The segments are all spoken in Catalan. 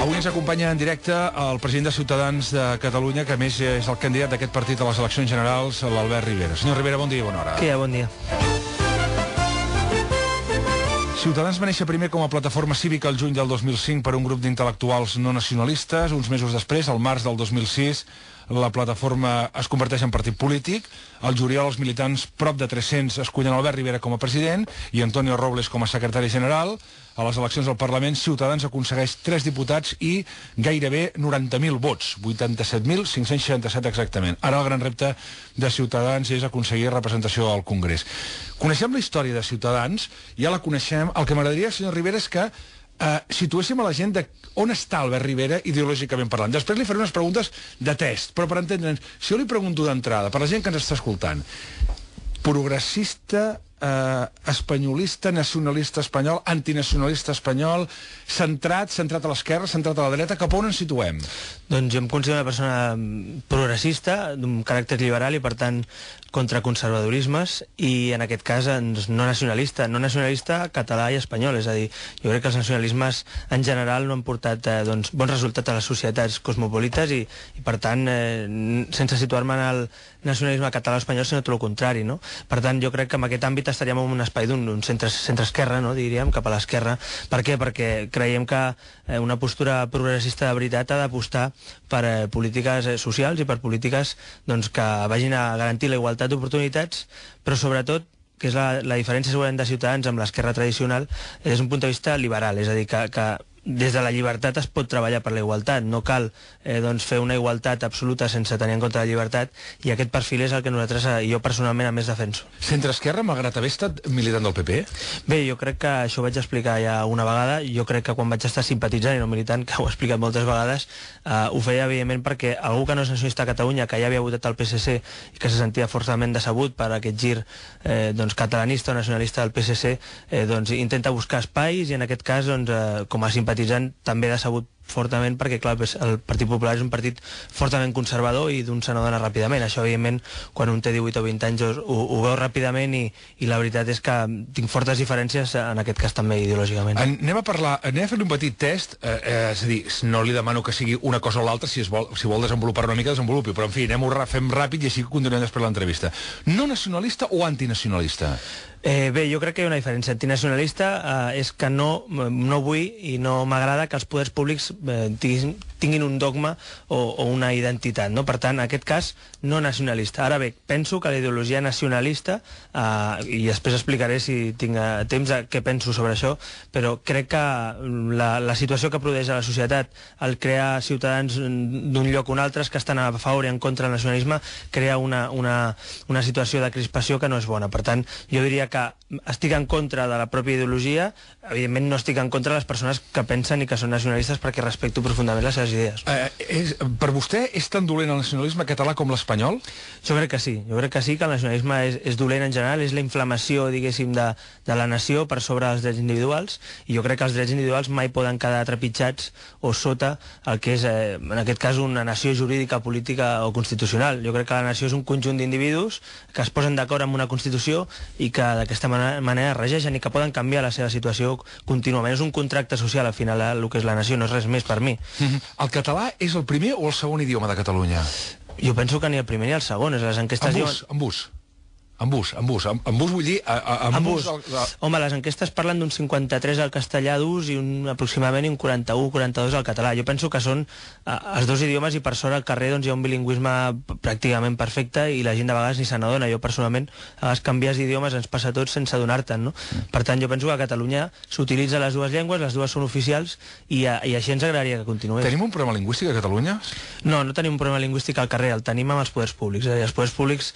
Avui ens acompanya en directe el president de Ciutadans de Catalunya, que a més és el candidat d'aquest partit a les eleccions generals, l'Albert Rivera. Senyor Rivera, bon dia i bona hora. Què hi ha? Bon dia. Ciutadans va néixer primer com a plataforma cívica el juny del 2005 per un grup d'intel·lectuals no nacionalistes. Uns mesos després, al març del 2006, la plataforma es converteix en partit polític. Al juliol els militants, prop de 300, escullen Albert Rivera com a president i Antonio Robles com a secretari general. A les eleccions al Parlament, Ciutadans aconsegueix 3 diputats i gairebé 90.000 vots, 87.567 exactament. Ara el gran repte de Ciutadans és aconseguir representació al Congrés. Coneixem la història de Ciutadans, ja la coneixem. El que m'agradaria, senyor Rivera, és que situéssim a la gent de on està Albert Rivera ideològicament parlant. Després li faré unes preguntes de test, però per entendre'ns, si jo li pregunto d'entrada, per la gent que ens està escoltant, progressista, espanyolista, nacionalista espanyol, antinacionalista espanyol, centrat a l'esquerra, centrat a la dreta, cap on ens situem? Doncs jo em considero una persona progressista, d'un caràcter liberal i, per tant, contra conservadorismes, i en aquest cas no nacionalista català i espanyol. És a dir, jo crec que els nacionalismes en general no han portat bons resultats a les societats cosmopolites i per tant, sense situar-me en el nacionalisme català o espanyol, sinó tot el contrari, no? Per tant, jo crec que en aquest àmbit estaríem en un espai d'un centre-esquerra, no? Diríem, cap a l'esquerra. Per què? Perquè creiem que una postura progressista de veritat ha d'apostar per polítiques socials i per polítiques que vagin a garantir la igualtat d'oportunitats, però sobretot, que és la diferència segurament de Ciutadans amb l'esquerra tradicional, des d'un punt de vista liberal, és a dir, que des de la llibertat es pot treballar per la igualtat, no cal fer una igualtat absoluta sense tenir en compte la llibertat, i aquest perfil és el que nosaltres, jo personalment, a més defenso. Centre-esquerra, malgrat haver estat militant del PP? Bé, jo crec que això ho vaig explicar ja una vegada. Jo crec que quan vaig estar simpatitzant i no militant, que ho he explicat moltes vegades, ho feia evidentment perquè algú que no és nacionalista a Catalunya, que ja havia votat al PSC i que se sentia forçament decebut per aquest gir catalanista o nacionalista del PSC, intenta buscar espais, i en aquest cas, com a simpatitzant, també decebut fortament, perquè clar, el Partit Popular és un partit fortament conservador i d'un se n'adona ràpidament. Això, evidentment, quan un té 18 o 20 anys ho veu ràpidament, i la veritat és que tinc fortes diferències, en aquest cas també ideològicament. Anem a fer un petit test, és a dir, no li demano que sigui una cosa o l'altra, si vol desenvolupar una mica, desenvolupi, però en fi, fem ràpid i així continuem després l'entrevista. No nacionalista o antinacionalista? Bé, jo crec que hi ha una diferència. Antinacionalista és que no vull i no m'agrada que els poders públics tinguin un dogma o una identitat, no? Per tant, en aquest cas, no nacionalista. Ara bé, penso que la ideologia nacionalista, i després explicaré, si tinc temps, què penso sobre això, però crec que la situació que produeix a la societat, el crear ciutadans d'un lloc o un altre que estan a favor i en contra del nacionalisme, crea una situació de crispació que no és bona. Per tant, jo diria que estic en contra de la pròpia ideologia. Evidentment no estic en contra de les persones que pensen i que són nacionalistes, perquè respecto profundament les seves idees. Per vostè és tan dolent el nacionalisme català com l'espanyol? Jo crec que sí. Jo crec que sí, que el nacionalisme és dolent en general, és la inflamació, diguéssim, de la nació per sobre dels drets individuals, i jo crec que els drets individuals mai poden quedar trepitjats o sota el que és, en aquest cas, una nació jurídica, política o constitucional. Jo crec que la nació és un conjunt d'individus que es posen d'acord amb una Constitució i que d'aquesta manera regeixen i que poden canviar la seva situació contínuament. És un contracte social, al final, el que és la nació, no és res més per mi. El català és el primer o el segon idioma de Catalunya? Jo penso que ni el primer ni el segon. Les enquestes En bus vull dir... Home, les enquestes parlen d'un 53 al castellà d'ús i aproximadament un 41-42 al català. Jo penso que són els dos idiomes, i per sort al carrer hi ha un bilingüisme pràcticament perfecte i la gent de vegades ni se n'adona. Jo personalment, a vegades canvies d'idiomes ens passa a tots sense adonar-te'n, no? Per tant, jo penso que a Catalunya s'utilitza les dues llengües, les dues són oficials, i així ens agradaria que continués. Tenim un problema lingüístic a Catalunya? No tenim un problema lingüístic al carrer, el tenim amb els poders públics. Els poders públics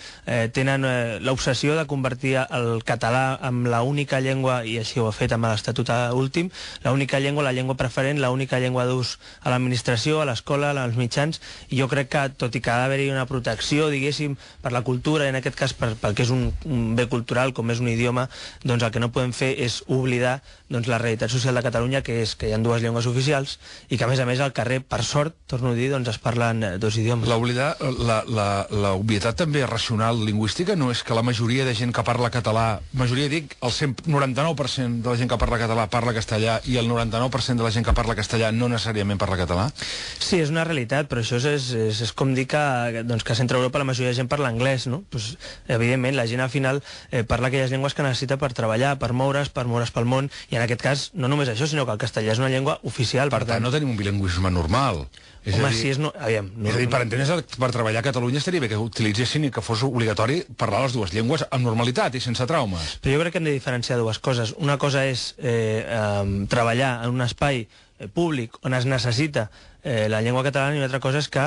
tenen l'obsessió de convertir el català en l'única llengua, i així ho ha fet amb l'Estatut últim, l'única llengua, la llengua preferent, l'única llengua d'ús a l'administració, a l'escola, als mitjans, i jo crec que, tot i que ha d'haver-hi una protecció, diguéssim, per la cultura, i en aquest cas pel que és un bé cultural, com és un idioma, doncs el que no podem fer és oblidar la realitat social de Catalunya, que és que hi ha dues llengües oficials, i que, a més, al carrer, per sort, torno a dir, es parlen dos idiomes. L'obvietat també racional lingüística no és que la majoria de gent que parla català, majoria dic, el 99% de la gent que parla català parla castellà i el 99% de la gent que parla castellà no necessàriament parla català? Sí, és una realitat, però això és com dir que, doncs, que a Centre Europa la majoria de gent parla anglès, no? Pues, evidentment, la gent al final parla aquelles llengües que necessita per treballar, per moure's pel món, i en aquest cas no només això, sinó que el castellà és una llengua oficial. Per tant, no tenim un bilingüisme normal. Home, si és... Aviam, és a dir, per entendre's, per treballar a Catalunya estaria bé que utilitzessin i que fos obligatori parlar les dues llengües amb normalitat i sense traumes. Però jo crec que hem de diferenciar dues coses. Una cosa és treballar en un espai públic on es necessita la llengua catalana, i una altra cosa és que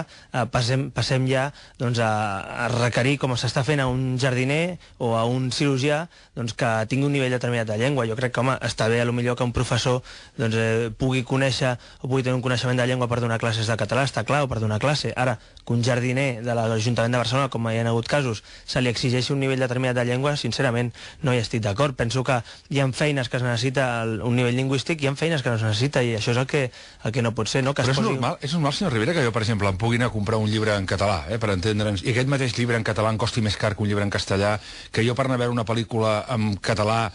passem ja doncs, a requerir, com s'està fent a un jardiner o a un cirurgià, doncs, que tingui un nivell determinat de llengua. Jo crec que, home, està bé potser que un professor doncs, pugui conèixer o pugui tenir un coneixement de llengua per donar classes de català, està clar, o per donar classe. Ara, que un jardiner de l'Ajuntament de Barcelona, com hi ha hagut casos, se li exigeixi un nivell determinat de llengua, sincerament no hi estic d'acord. Penso que hi ha feines que es necessita un nivell lingüístic i hi ha feines que no es necessita, i això és el que no pot ser, no? Que però és normal, senyor Rivera, que jo, per exemple, em pugui anar a comprar un llibre en català, per entendre'ns, i aquest mateix llibre en català em costi més car que un llibre en castellà, que jo per anar a veure una pel·lícula en català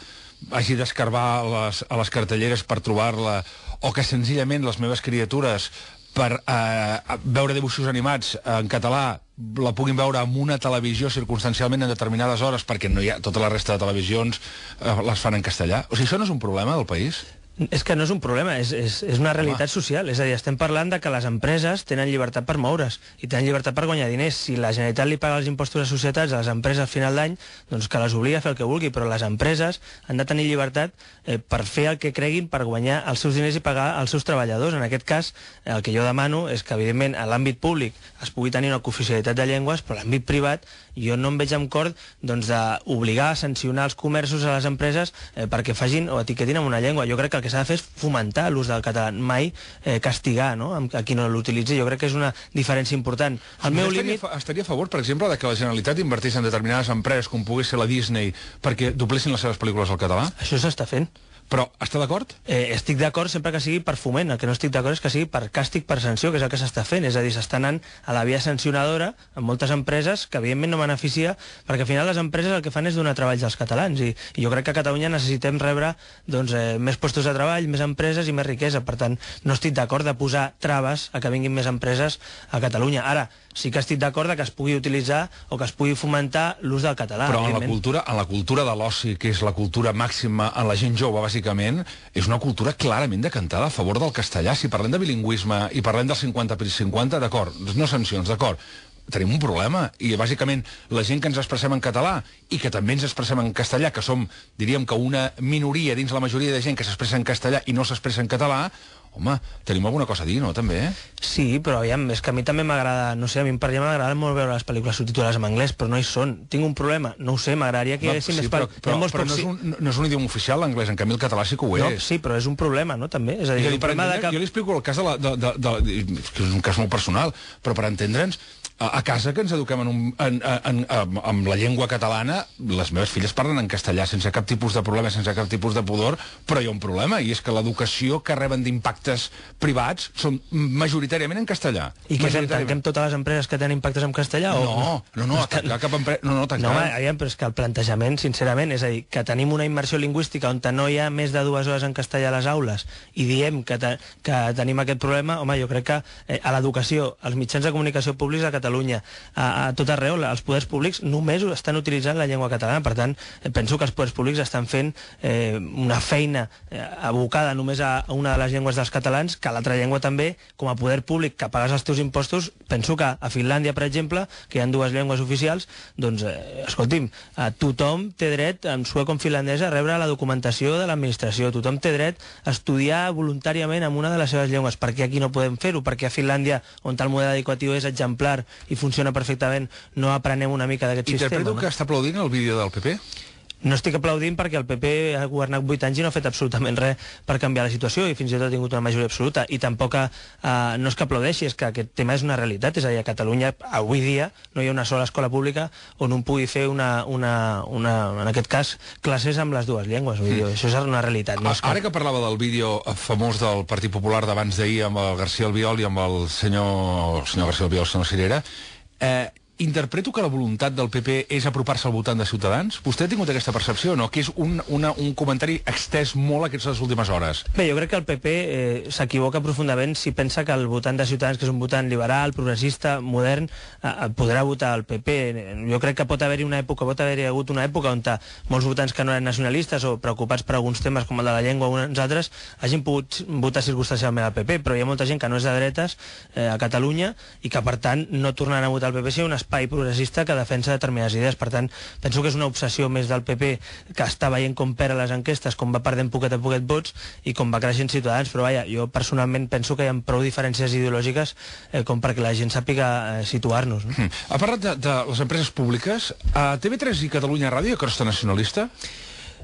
hagi d'escarbar a les cartelleres per trobar-la, o que senzillament les meves criatures per veure dibuixos animats en català la puguin veure en una televisió circumstancialment en determinades hores, perquè no hi ha, tota la resta de televisions les fan en castellà. O sigui, això no és un problema del país? És que no és un problema, és una realitat social. És a dir, estem parlant de que les empreses tenen llibertat per moure's i tenen llibertat per guanyar diners. Si la Generalitat li paga els impostos a societats a les empreses al final d'any, doncs que les obliga a fer el que vulgui, però les empreses han de tenir llibertat per fer el que creguin, per guanyar els seus diners i pagar els seus treballadors. En aquest cas, el que jo demano és que, evidentment, a l'àmbit públic es pugui tenir una cooficialitat de llengües, però a l'àmbit privat jo no em veig amb cor d'obligar a sancionar els comerços a les empreses perquè facin o etiquetin en una llengua. Jo crec que el que s'ha de fer és fomentar l'ús del català, mai castigar, no?, a qui no l'utilitzi. Jo crec que és una diferència important. Estaria a favor, per exemple, de que la Generalitat invertís en determinades empreses, com pogués ser la Disney, perquè doblessin les seves pel·lícules al català? Això s'està fent. Però està d'acord? Estic d'acord sempre que sigui per foment. El que no estic d'acord és que sigui per càstig, per sanció, que és el que s'està fent. És a dir, s'està anant a la via sancionadora en moltes empreses que evidentment no beneficia, perquè al final les empreses el que fan és donar treballs als catalans, i jo crec que a Catalunya necessitem rebre més postos de treball, més empreses i més riquesa. Per tant, no estic d'acord de posar traves a que vinguin més empreses a Catalunya. Ara, sí que estic d'acord que es pugui utilitzar o que es pugui fomentar l'ús del català. Però en la cultura de l'oci, que és la cultura màxima en la gent jove, bàsicament, és una cultura clarament decantada a favor del castellà. Si parlem de bilingüisme i parlem del 50/50, d'acord, no sancions, d'acord. Tenim un problema, i bàsicament la gent que ens expressem en català i que també ens expressem en castellà, que som, diríem que una minoria dins la majoria de gent que s'expressa en castellà i no s'expressa en català, home, tenim alguna cosa a dir, no, també? Sí, però aviam, és que a mi també m'agrada, no sé, a mi per exemple m'agrada molt veure les pel·lícules subtitulades en anglès, però no hi són. Tinc un problema, no ho sé, m'agradaria que hi haguessin més... Però no és un idioma oficial l'anglès, en canvi el català sí que ho és. No, sí, però és un problema, no, també? És a dir, jo li explico el cas que és un cas molt personal, però per entendre'ns, a casa que ens eduquem amb la llengua catalana, les meves filles parlen en castellà sense cap tipus de problema, sense cap tipus de pudor, però hi ha un problema, i és que l'educació que reben d'impactes privats són majoritàriament en castellà. I què fem? Tanquem totes les empreses que tenen impactes en castellà? No, tancar cap empresa... No, home, aviam, però és que el plantejament, sincerament, és a dir, que tenim una immersió lingüística on no hi ha més de 2 hores en castellà a les aules i diem que tenim aquest problema, home, jo crec que a l'educació, als mitjans de comunicació públics a Catalunya, a tot arreu, els poders públics només estan utilitzant la llengua catalana. Per tant, penso que els poders públics estan fent una feina abocada només a una de les llengües dels catalans, que l'altra llengua també, com a poder públic que pagues els teus impostos. Penso que a Finlàndia, per exemple, que hi ha 2 llengües oficials, doncs, escolti'm, tothom té dret, en suec com finlandès, a rebre la documentació de l'administració. Tothom té dret a estudiar voluntàriament en una de les seves llengües. Per què aquí no podem fer-ho? Perquè a Finlàndia, on el model educatiu és exemplar i funciona perfectament, no aprenem una mica d'aquest sistema. Interpreto que està aplaudint el vídeo del PP? No estic aplaudint perquè el PP ha governat 8 anys i no ha fet absolutament res per canviar la situació, i fins i tot ha tingut una majoria absoluta, i tampoc no és que aplaudeixi, és que aquest tema és una realitat. És a dir, a Catalunya avui dia no hi ha una sola escola pública on un pugui fer en aquest cas, classes amb les 2 llengües. Vull dir, això és una realitat. No? Ara que parlava del vídeo famós del Partit Popular d'abans d'ahir amb el García Albiol i amb el senyor García Albiol, el senyor Cirera, interpreto que la voluntat del PP és apropar-se al votant de Ciutadans? Vostè ha tingut aquesta percepció o no? Que és un comentari extès molt aquestes últimes hores. Bé, jo crec que el PP s'equivoca profundament si pensa que el votant de Ciutadans, que és un votant liberal, progressista, modern, podrà votar el PP. Jo crec que pot haver-hi hagut una època on molts votants que no eren nacionalistes o preocupats per alguns temes com el de la llengua o uns altres hagin pogut votar circumstancialment al PP, però hi ha molta gent que no és de dretes a Catalunya i que per tant no tornaran a votar el PP si hi ha un espai progressista que defensa determinades idees. Per tant, penso que és una obsessió més del PP, que està veient com perd a les enquestes, com va perdent poquet a poquet vots i com va creixent Ciutadans, però vaja, jo personalment penso que hi ha prou diferències ideològiques com perquè la gent sàpiga situar-nos. No? Ha parlat de les empreses públiques. A TV3 i Catalunya Ràdio hi ha crosta nacionalista?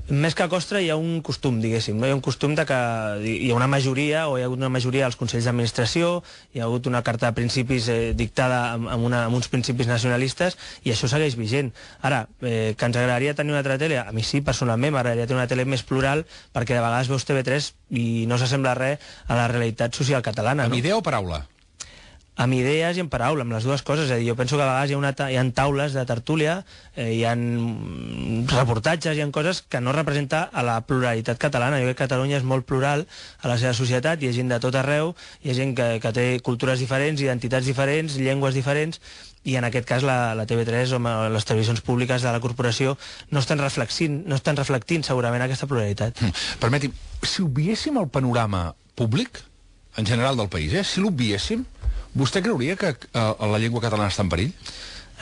Més que a costra hi ha un costum, diguéssim, no? Hi ha un costum de que hi ha una majoria, o hi ha hagut una majoria als consells d'administració, hi ha hagut una carta de principis dictada amb uns principis nacionalistes, i això segueix vigent. Ara, que ens agradaria tenir una altra tele, a mi sí, personalment, m'agradaria tenir una tele més plural, perquè de vegades veus TV3 i no s'assembla res a la realitat social catalana. Amb idea o paraula? Amb idees i amb paraula, amb les dues coses. És a dir, jo penso que a vegades hi ha taules de tertúlia, hi ha reportatges, hi ha coses que no representa a la pluralitat catalana. Jo crec que Catalunya és molt plural a la seva societat, hi ha gent de tot arreu, hi ha gent que té cultures diferents, identitats diferents, llengües diferents, i en aquest cas la TV3 o les televisions públiques de la corporació no estan reflectint segurament aquesta pluralitat. Permeti'm, si obviéssim el panorama públic, en general del país, si l'obviéssim, vostè creuria que la llengua catalana està en perill?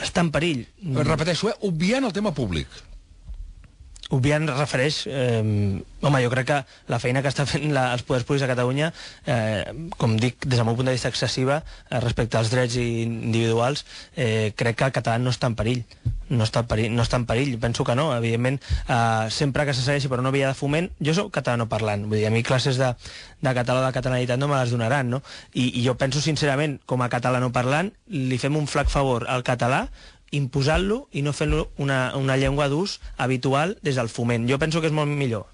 Està en perill. Repeteixo, obviant el tema públic. Obviant refereix... home, jo crec que la feina que està fent els poders públics a Catalunya, com dic, des del meu punt de vista excessiva, respecte als drets individuals, crec que el català no està en perill. No està en perill, penso que no. Evidentment, sempre que se segueixi per una via de foment, jo soc catalanoparlant, vull dir, a mi classes de català o de catalanitat no me les donaran, no? I jo penso sincerament, com a catalanoparlant, li fem un flac favor al català imposant-lo i no fent-lo una llengua d'ús habitual des del foment. Jo penso que és molt millor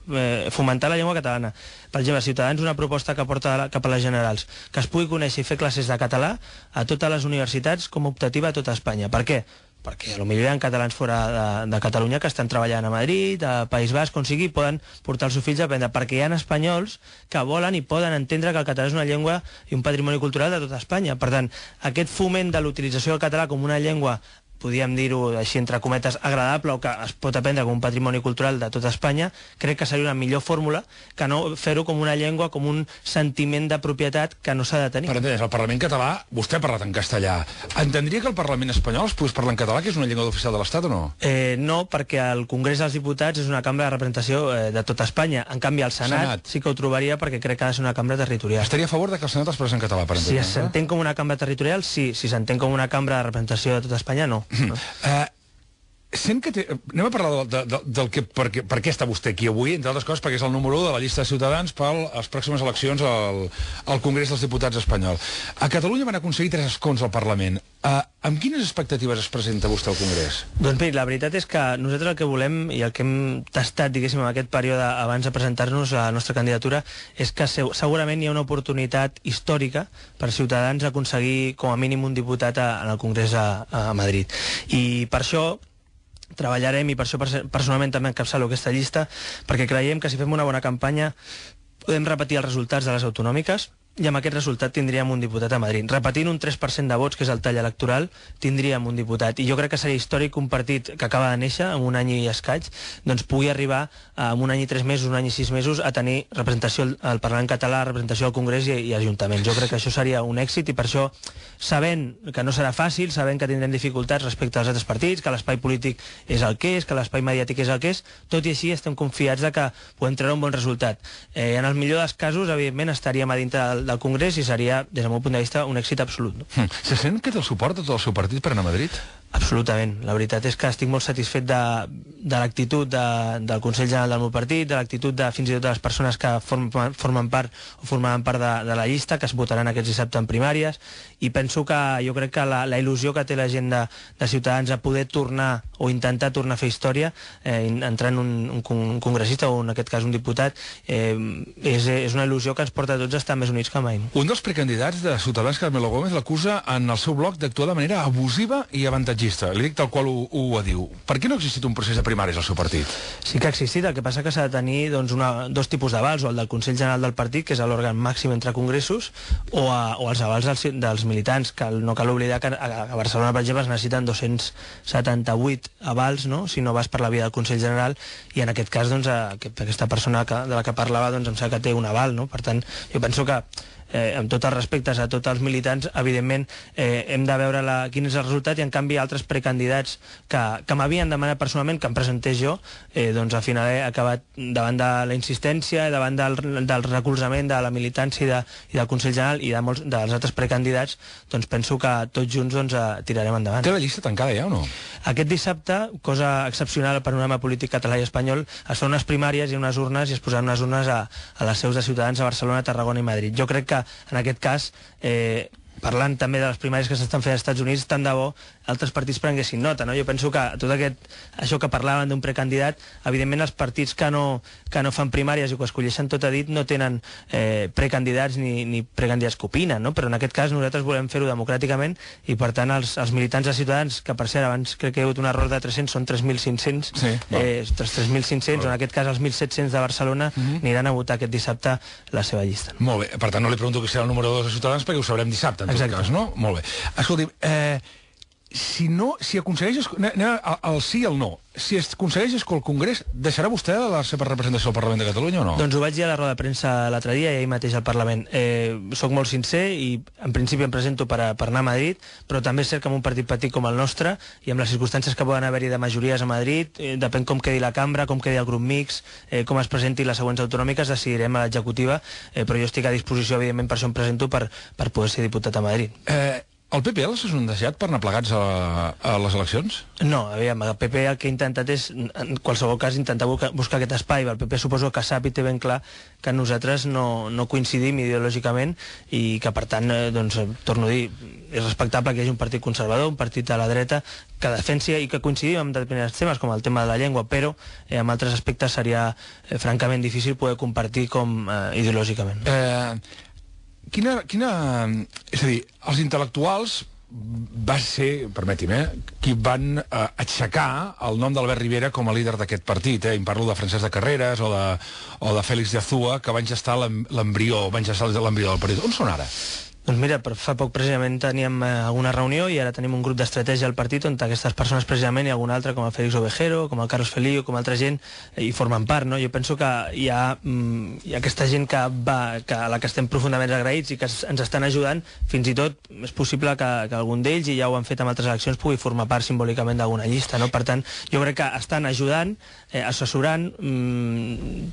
fomentar la llengua catalana. Per exemple, Ciutadans, una proposta que porta cap a les generals, que es pugui conèixer i fer classes de català a totes les universitats com a optativa a tota Espanya. Per què? Perquè potser hi ha catalans fora de Catalunya que estan treballant a Madrid, a País Basc, on sigui, poden portar els seus fills a aprendre, perquè hi ha espanyols que volen i poden entendre que el català és una llengua i un patrimoni cultural de tota Espanya. Per tant, aquest foment de l'utilització del català com una llengua, podríem dir-ho així entre cometes, agradable o que es pot aprendre com un patrimoni cultural de tota Espanya, crec que seria una millor fórmula que no fer-ho com una llengua, com un sentiment de propietat que no s'ha de tenir. Per entendre's, el Parlament català, vostè ha parlat en castellà. Entendria que el Parlament espanyol es pogués parlar en català, que és una llengua oficial de l'Estat, o no? No, perquè el Congrés dels Diputats és una cambra de representació de tota Espanya. En canvi, el Senat sí que ho trobaria, perquè crec que ha de ser una cambra territorial. Estaria a favor de que el Senat es parlés en català, per entendre's? Si s'entén com una cambra territorial, sí. Si s'entén com una cambra de representació de tota Espanya, no. Sent que anem a parlar per què està vostè aquí avui, entre altres coses perquè és el número 1 de la llista de Ciutadans per les pròximes eleccions al Congrés dels Diputats espanyol. A Catalunya van aconseguir 3 escons al Parlament. Amb quines expectatives es presenta vostè al Congrés? Doncs bé, la veritat és que nosaltres el que volem i el que hem tastat, diguéssim, en aquest període abans de presentar-nos a la nostra candidatura és que segurament hi ha una oportunitat històrica per Ciutadans aconseguir com a mínim un diputat en el Congrés a Madrid. I per això treballarem, i per això personalment també encapçalo aquesta llista, perquè creiem que si fem una bona campanya podem repetir els resultats de les autonòmiques i amb aquest resultat tindríem un diputat a Madrid. Repetint un 3% de vots, que és el tall electoral, tindríem un diputat. I jo crec que seria històric que un partit que acaba de néixer, amb un any i escaig, doncs pugui arribar amb un any i 3 mesos, un any i 6 mesos, a tenir representació al Parlament català, representació al Congrés i ajuntaments. Jo crec que això seria un èxit i per això, sabent que no serà fàcil, sabent que tindrem dificultats respecte als altres partits, que l'espai polític és el que és, que l'espai mediàtic és el que és, tot i així estem confiats de que podem treure un bon resultat. En el millor dels casos, evidentment, estaríem a dintre del Congrés i seria, des del meu punt de vista, un èxit absolut. No? Se sent que té el suport de tot el seu partit per anar a Madrid? Absolutament. La veritat és que estic molt satisfet de l'actitud del Consell General del meu partit, de l'actitud de fins i tot de les persones que formen part o formaran part de la llista, que es votaran aquest dissabte en primàries, i penso que jo crec que la il·lusió que té la gent de Ciutadans a poder tornar o intentar tornar a fer història, entrant un congressista o en aquest cas un diputat, és una il·lusió que ens porta a tots a estar més units que mai. Un dels precandidats de Ciutadans, Carmelo Gómez, l'acusa en el seu blog d'actuar de manera abusiva i avantatjada sondatgista, li dic tal qual ho diu. Per què no ha existit un procés de primàries al seu partit? Sí que ha existit, el que passa que s'ha de tenir doncs, dos tipus d'avals, o el del Consell General del Partit, que és l'òrgan màxim entre congressos, o els avals dels militants, que no cal oblidar que a Barcelona, per exemple, es necessiten 278 avals, no?, si no vas per la via del Consell General, i en aquest cas, doncs, aquesta persona de la que parlava, doncs, em sembla que té un aval, no? Per tant, jo penso que amb tots els respectes a tots els militants, evidentment hem de veure quin és el resultat, i en canvi altres precandidats que m'havien demanat personalment que em presentés jo, doncs al final he acabat davant de la insistència, davant del recolzament de la militància i del Consell General i dels altres precandidats, doncs penso que tots junts doncs, tirarem endavant. Té la llista tancada ja o no? Aquest dissabte, cosa excepcional al panorama polític català i espanyol, es fan unes primàries i unes urnes, i es posaran unes urnes a les seus de Ciutadans a Barcelona, Tarragona i Madrid. Jo crec que en aquest cas, parlant també de les primàries que s'estan fent als Estats Units, tant de bo altres partits prenguessin nota, no? Jo penso que tot això que parlaven d'un precandidat, evidentment els partits que no fan primàries i que ho escolleixen tot a dit no tenen precandidats ni precandidats que opinen, no? Però en aquest cas nosaltres volem fer-ho democràticament, i per tant els militants de Ciutadans, que per cert abans crec que hi ha hagut un error de 300, són 3.500, sí, 3.500, o en aquest cas els 1.700 de Barcelona, aniran a votar aquest dissabte la seva llista. Molt bé, per tant no li pregunto qui serà el número 2 de Ciutadans, perquè ho sabrem dissabte, en tot cas, no? Molt bé. Escolti, si aconsegueix el sí i el no, si es aconsegueix que el Congrés, deixarà vostè la seva representació al Parlament de Catalunya o no? Doncs ho vaig dir a la roda de premsa l'altre dia i ahir mateix al Parlament. Soc molt sincer i en principi em presento per anar a Madrid, però també és cert que en un partit petit com el nostre, i amb les circumstàncies que poden haver-hi de majories a Madrid, depèn com quedi la cambra, com quedi el grup mix, com es presenti les següents autonòmiques, decidirem a l'executiva, però jo estic a disposició, evidentment, per això em presento per poder ser diputat a Madrid. El PP l'ha sondejat per anar plegats a les eleccions? No, aviam, el PP el que ha intentat és, en qualsevol cas, intentar buscar aquest espai. El PP suposo que sap i té ben clar que nosaltres no coincidim ideològicament, i que, per tant, doncs, torno a dir, és respectable que hi hagi un partit conservador, un partit a la dreta, que defensi i que coincidim en determinats temes, com el tema de la llengua, però en altres aspectes seria francament difícil poder compartir com ideològicament. És a dir, els intel·lectuals va ser, permeti'm, qui van aixecar el nom d'Albert Rivera com a líder d'aquest partit. Em parlo de Francesc de Carreras o de Félix de Azúa, que van gestar l'embrió del partit. On són ara? Doncs mira, fa poc precisament teníem alguna reunió, i ara tenim un grup d'estratègia al partit on aquestes persones precisament, i alguna altra com el Félix Ovejero, com el Carlos Felillo, com altra gent, hi formen part, no? Jo penso que hi ha aquesta gent a la que estem profundament agraïts i que ens estan ajudant. Fins i tot és possible que algun d'ells, i ja ho han fet en altres eleccions, pugui formar part simbòlicament d'alguna llista, no? Per tant, jo crec que estan ajudant, assessorant,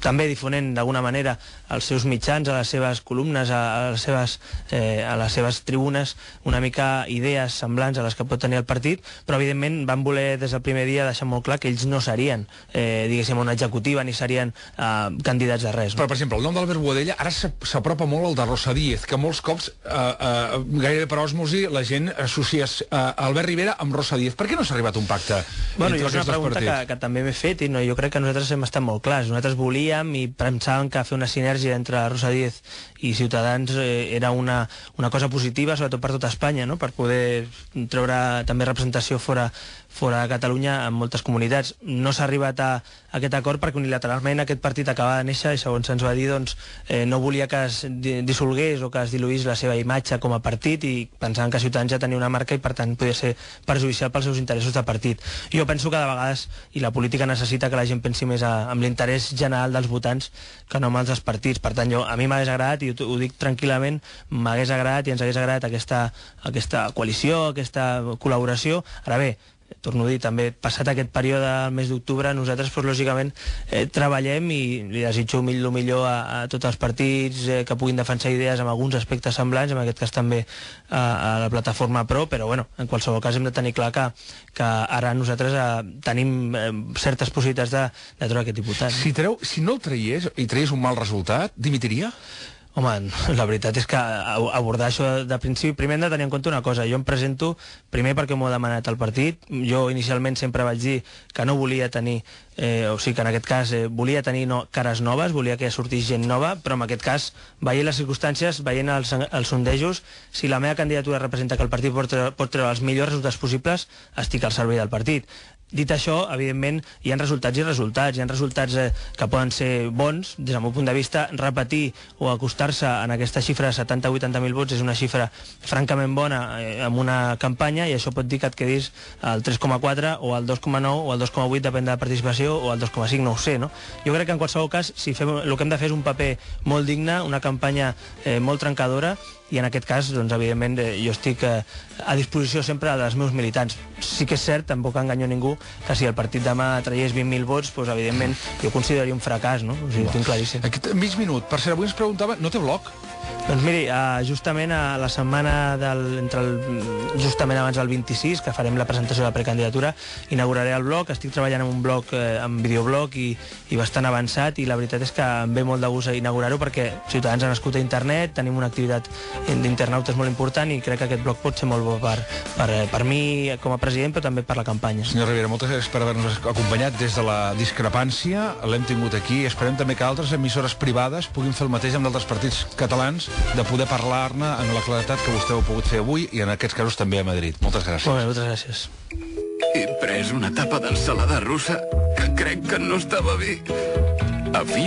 també difonent d'alguna manera als seus mitjans, a les seves columnes, a les seves tribunes, una mica idees semblants a les que pot tenir el partit, però evidentment van voler des del primer dia deixar molt clar que ells no serien, diguéssim, una executiva, ni serien candidats de res, no? Però, per exemple, el nom d'Albert Boadella ara s'apropa molt al de Rosa Díez, que molts cops, gairebé per osmosi, la gent associa Albert Rivera amb Rosa Díez. Per què no s'ha arribat a un pacte entre és una pregunta que també m'he fet, i jo crec que nosaltres hem estat molt clars. Nosaltres volíem i pensàvem que fer una sinergia entre Rosa Díez i Ciutadans era una cosa positiva, sobretot per tota Espanya, no? Per poder treure també representació fora de Catalunya en moltes comunitats. No s'ha arribat a aquest acord perquè unilateralment aquest partit acaba de néixer, i segons se'ns va dir, doncs, no volia que es dissolgués o que es diluís la seva imatge com a partit, i pensaven que Ciutadans ja tenia una marca i per tant podia ser perjudicial pels seus interessos de partit. Jo penso que de vegades, i la política necessita que la gent pensi més en l'interès general dels votants que no amb els partits. Per tant, a mi m'hagués agradat, i ho dic tranquil·lament, m'hagués agradat i ens hagués agradat aquesta coalició, aquesta col·laboració. Ara bé, torno a dir, també passat aquest període del mes d'octubre, nosaltres, lògicament, treballem, i li desitjo el millor a tots els partits que puguin defensar idees amb alguns aspectes semblants, en aquest cas també a la plataforma Pro, però bueno, en qualsevol cas hem de tenir clar que ara nosaltres tenim certes possibilitats de treure aquest diputat. Si no el traiés i traiés un mal resultat, dimitiria? Home, la veritat és que abordar això de principi, primer hem de tenir en compte una cosa. Jo em presento, primer perquè m'ho ha demanat el partit. Jo inicialment sempre vaig dir que no volia tenir, o sigui que en aquest cas volia tenir cares noves, volia que sortís gent nova, però en aquest cas, veient les circumstàncies, veient els sondejos, si la meva candidatura representa que el partit pot treure els millors resultats possibles, estic al servei del partit. Dit això, evidentment, hi ha resultats i resultats. Hi ha resultats que poden ser bons, des del meu punt de vista. Repetir o acostar-se en aquesta xifra de 70-80.000 vots és una xifra francament bona amb una campanya, i això pot dir que et quedis al 3,4 o al 2,9 o al 2,8, depèn de la participació, o al 2,5, no ho sé, no? Jo crec que en qualsevol cas, si fem, el que hem de fer és un paper molt digne, una campanya molt trencadora, i en aquest cas, doncs, evidentment, jo estic a disposició sempre dels meus militants. Sí que és cert, tampoc enganyo ningú, que si el partit demà tragués 20.000 vots, doncs, evidentment, jo consideraria un fracàs, no? O sigui, ho tinc claríssim. Aquest mig minut, per cert, avui ens preguntava, no té blog? Doncs miri, justament a la setmana justament abans del 26, que farem la presentació de la precandidatura, inauguraré el blog. Estic treballant en un blog, en videoblog, i bastant avançat, i la veritat és que em ve molt de gust inaugurar-ho, perquè Ciutadans ha nascut a internet, tenim una activitat d'internautes molt important, i crec que aquest blog pot ser molt bo per mi com a president, però també per la campanya. Senyor Rivera, moltes gràcies per haver-nos acompanyat des de la discrepància. L'hem tingut aquí. Esperem també que altres emissores privades puguin fer el mateix amb d'altres partits catalans, de poder parlar-ne amb la claretat que vostè ho ha pogut fer avui, i en aquests casos també a Madrid. Moltes gràcies. Molt bé, moltes gràcies. He pres una tapa d'ensalada russa que crec que no estava bé. Havia